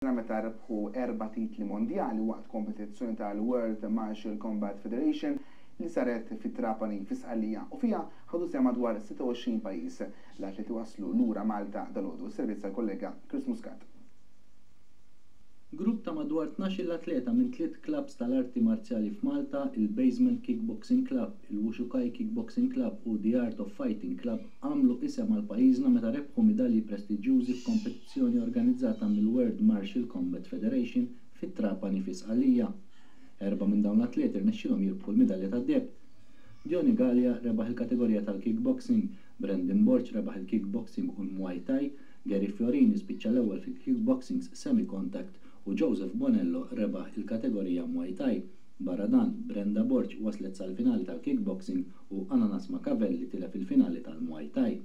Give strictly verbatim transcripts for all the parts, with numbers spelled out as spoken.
Meta rebħu erba' titli mondjali waqt kompetizzjoni tal-World Martial Combat Federation li saret fi Trapani fi Sqallija u fiha ħadu sehem madwar sitta u għoxrin pajjiż. L-atleti waslu lura Malta dalgħodu. Servizz tal-kollega Chris Muscat. Grupp ta' madwar tnax-il atleta minn tliet clubs tal-arti marzjali f'Malta, il-Basement Kickboxing Club, il-Wushukai Kickboxing Club u The Art of Fighting Club, għamlu isem għal pajjiżna meta rebħu midalji prestiġjużi f'kompetizzjoni organizzata mill-World Martial Combat Federation fit-Trapani fi Sqallija. Erba' minn dawn l-atleti rnexxilhom jirbħu l-midalja tad-deheb. Johnny Gallia rebaħ il-kategorija tal-kickboxing, Brandon Borg rebaħ il-kickboxing u l-Muay Thai, Gary Fiorini spiċċa l-ewwel fil-kickboxing semi-contact u Joseph Bonello rebaħ il-kategorija Muay Thai. Barra dan, Brenda Borg waslet sal-finali tal-kickboxing u Ananas Macavelli tilef il-finali tal-Muay Thai.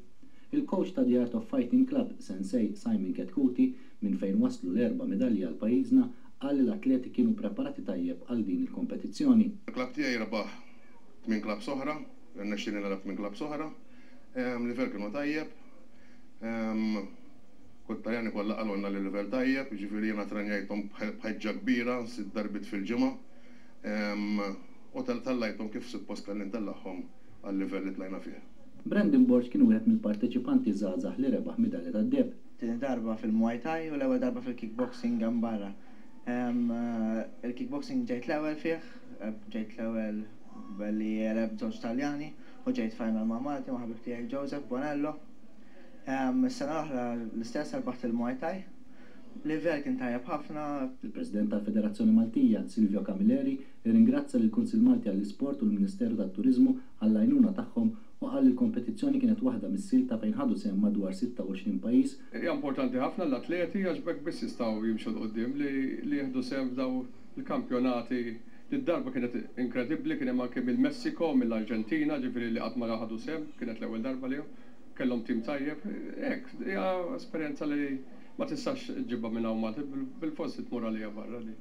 Il-coach ta' The Art of Fighting Club, Sensei Simon Ketkuti, minn fejn waslu l-erba' medalji għal pajjiżna, qal li l-atleti kienu preparati tajjeb għal din il-kompetizzjoni. Il-klabb tiegħi rebaħ tmien klabbs oħra, rnexxieli nilgħab tmien klabbs oħra. Livell kienu tajjeb. Kull Taljani kollha qalulna li livell tajjeb, jiġifieri jiena trenjajthom b'ħeġġa kbira, sitt darbiet fil-ġimgħa. U tellajthom kif suppost kelli ntellagħhom għal-livell li tlajna fih. Brandon Borg kien wieħed mill-parteċipanti żgħażagħ li rebaħ midalja tad-deheb. Tieni darba fil-Muay Thai u l-ewwel darba fil-kickboxing hemm barra. Il-kickboxing ġejt l-ewwel fih, ġejt l-ewwel billi għelibt żewġ Taljani u ġejt final ma' Malti, ma' ħabib tiegħi Joseph Bonello. Is-sena l-oħra l-istess, rbaħt il-Muay Thai. Livell kien tajjeb ħafna. Il-President tal-Federazzjoni Maltija, Silvio Camilleri, irringrazzja lill-Kunsill Malti għall-Isport u l-Ministeru tat-Turiżmu għall-għajnuna tagħhom u qal li l-kompetizzjoni kienet waħda mis-silta fejn ħadu sehem madwar sitta u għoxrin pajjiż. Hija importanti ħafna l-atleti għax b'hekk biss jistgħu jimxu 'l quddiem li li jieħdu sehem f'daw il-kampjonati. Id-darba kienet inkredibbli, kien hemm anke mill-Messiko, mill-Arġentina, ġifieri li qatt ma ħadu sehem, kienet l-ewwel darba li kellhom tim tajjeb. Hekk, hija esperjenza li ma tistax ġibha minn hawn Malta, bil-forsi tmur għalija barra li.